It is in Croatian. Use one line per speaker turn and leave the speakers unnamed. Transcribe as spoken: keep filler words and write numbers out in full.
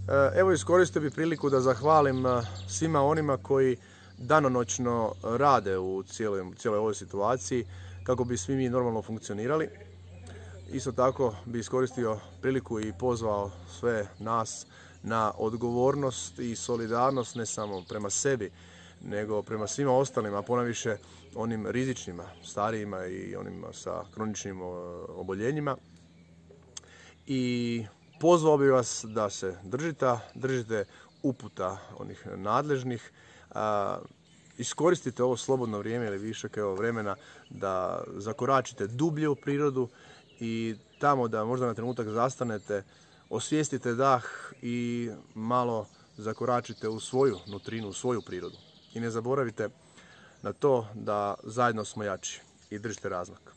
Evo, iskoristio bih priliku da zahvalim svima onima koji danonoćno rade u cijeloj, cijeloj ovoj situaciji kako bi svi mi normalno funkcionirali. Isto tako bi iskoristio priliku i pozvao sve nas na odgovornost i solidarnost ne samo prema sebi, nego prema svima ostalima, a ponajviše onim rizičnima, starijima i onima sa kroničnim oboljenjima. I pozvao bih vas da se držite, držite uputa onih nadležnih, a, iskoristite ovo slobodno vrijeme ili višak evo vremena da zakoračite dublje u prirodu i tamo da možda na trenutak zastanete, osvijestite dah i malo zakoračite u svoju nutrinu, u svoju prirodu. I ne zaboravite na to da zajedno smo jači i držite razmak.